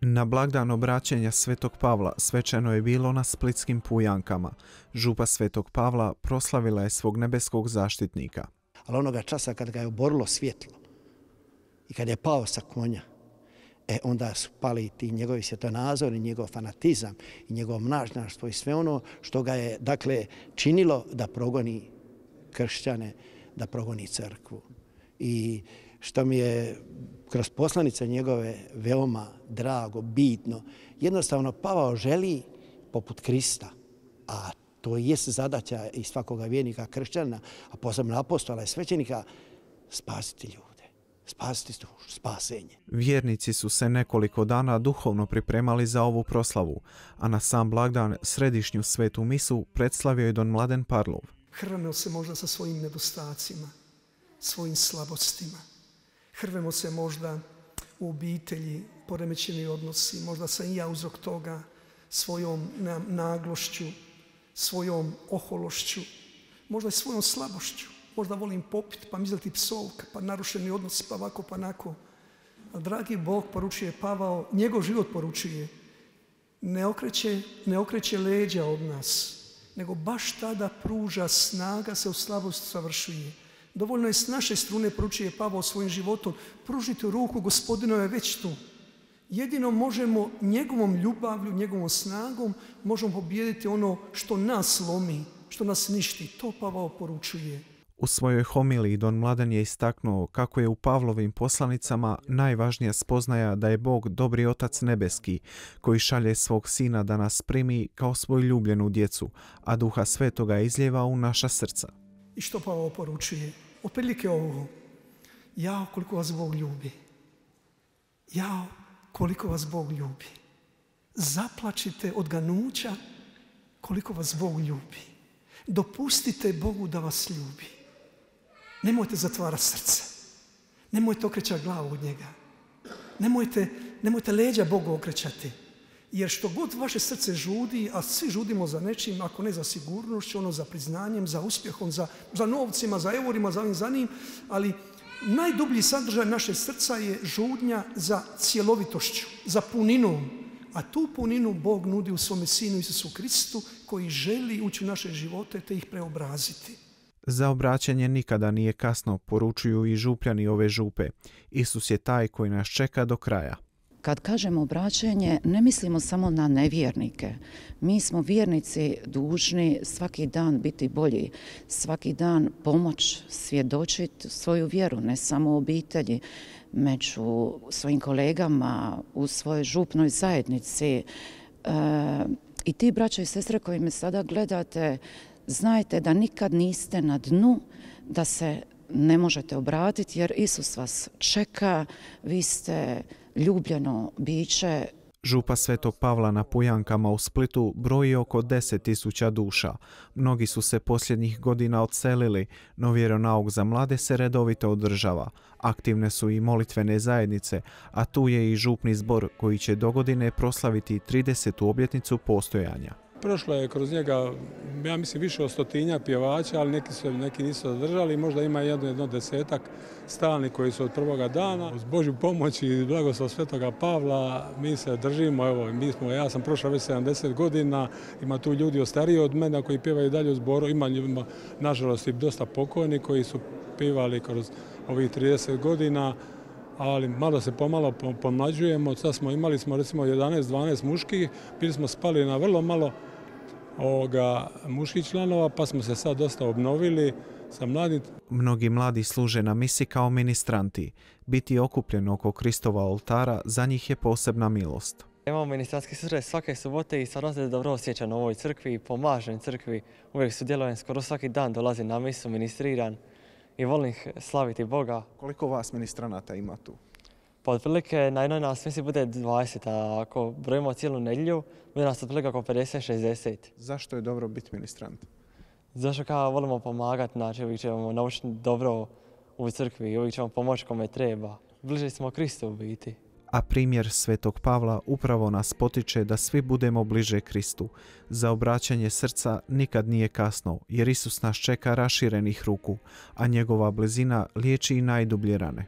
Na blagdan obraćenja Svetog Pavla svečano je bilo na splitskim Pujankama. Župa Svetog Pavla proslavila je svog nebeskog zaštitnika. Ali onoga časa kad ga je oborilo svjetlo i kad je pao sa konja, onda su pali ti njegovi svjetonazori, njegov fanatizam i njegovo mnažnjaštvo i sve ono što ga je činilo da progoni kršćane, da progoni crkvu. I što mi je kroz poslanice njegove veoma drago, bitno, jednostavno Pavao želi, poput Krista, a to jest zadaća i svakoga vjernika kršćana, a posebno apostola i svećenika, spasiti ljude, spasiti dušu, spasenje. Vjernici su se nekoliko dana duhovno pripremali za ovu proslavu, a na sam blagdan središnju svetu misu predslavio je don Mladen Parlov. Hrvemo se možda sa svojim nedostacima, svojim slabostima. Hrvemo se možda u obitelji, poremećeni odnosi, možda sam i ja uzrok toga, svojom naglošću, svojom ohološću, možda i svojom slabošću. Možda volim popiti, pa mi izleti psovka, pa narušeni odnosi, pa ovako, pa onako. A dragi Bog, poručuje Pavao, njegov život poručuje, ne okreće leđa od nas, nego baš tada pruža snaga se u slabosti savršuje. Dovoljno je s naše strune, poručuje Pavao svojim životom, pružiti ruku, Gospodinove je već tu. Jedino možemo njegovom ljubavlju, njegovom snagom, možemo pobijediti ono što nas lomi, što nas ništi. To Pavao poručuje. U svojoj homiliji don Mladen je istaknuo kako je u Pavlovim poslanicama najvažnija spoznaja da je Bog dobri Otac nebeski, koji šalje svog Sina da nas primi kao svoju ljubljenu djecu, a Duha Svetoga izlijeva u naša srca. I što Pavao poručuje? Otprilike ovo. Jao, koliko vas Bog ljubi. Jao, koliko vas Bog ljubi. Zaplačite od ganuća koliko vas Bog ljubi. Dopustite Bogu da vas ljubi. Nemojte zatvarati srce. Nemojte okrećati glavu od njega. Nemojte leđa Bogu okrećati. Jer što god vaše srce žudi, a svi žudimo za nečim, ako ne za sigurnošću, ono za priznanjem, za uspjehom, za novcima, za eurima, za ovim, za njim, ali najdublji sadržaj našeg srca je žudnja za cjelovitošću, za puninom. A tu puninu Bog nudi u svome Sinu Isusu Kristu, koji želi ući u naše živote te ih preobraziti. Za obraćanje nikada nije kasno, poručuju i župljani ove župe. Isus je taj koji nas čeka do kraja. Kad kažemo obraćanje, ne mislimo samo na nevjernike. Mi smo vjernici dužni svaki dan biti bolji, svaki dan pomoć svjedočiti svoju vjeru, ne samo u obitelji, među svojim kolegama, u svojoj župnoj zajednici. I ti, braćo i sestre koji me sada gledate, znajte da nikad niste na dnu, da se ne možete obratiti jer Isus vas čeka, vi ste ljubljeno biće. Župa Svetog Pavla na Pujankama u Splitu broji oko 10.000 duša. Mnogi su se posljednjih godina odselili, no vjeronauk za mlade se redovito održava. Aktivne su i molitvene zajednice, a tu je i župni zbor koji će dogodine proslaviti 30. obljetnicu postojanja. Prošlo je kroz njega, ja mislim, više od 100 pjevača, ali neki nisu zadržali. Možda ima jedno 10 stalnih koji su od prvoga dana. Uz Božju pomoć i blagoslov Svetoga Pavla mi se držimo. Evo, ja sam prošao već 70 godina, ima tu ljudi stariji od mene koji pjevaju dalje u zboru. Ima nažalost i dosta pokojni koji su pjevali kroz ovih 30 godina. Ali malo se pomalo pomlađujemo. Sad imali smo recimo 11-12 muških, bili smo spali na vrlo malo muških članova, pa smo se sad dosta obnovili sa mladim. Mnogi mladi služe na misi kao ministranti. Biti okupljen oko Kristova oltara za njih je posebna milost. Imamo ministranski susret svake subote i stvarno se dobro osjećam u ovoj crkvi i pomažem crkvi. Uvijek sudjelujem, skoro svaki dan dolazim na misu, ministriram i volim slaviti Boga. Koliko vas ministranata ima tu? Pa otprilike na jednoj nas misi bude 20, a ako brojimo cijelu nedjelju, bude nas otprilike oko 50-60. Zašto je dobro biti ministrant? Zašto kao volimo pomagati, znači uvijek ćemo naučiti dobro u crkvi, uvijek ćemo pomoći kome treba. Bliže smo Kristu u biti. A primjer Svetog Pavla upravo nas potiče da svi budemo bliže Kristu. Za obraćanje srca nikad nije kasno, jer Isus nas čeka raširenih ruku, a njegova blizina liječi i najdublje rane.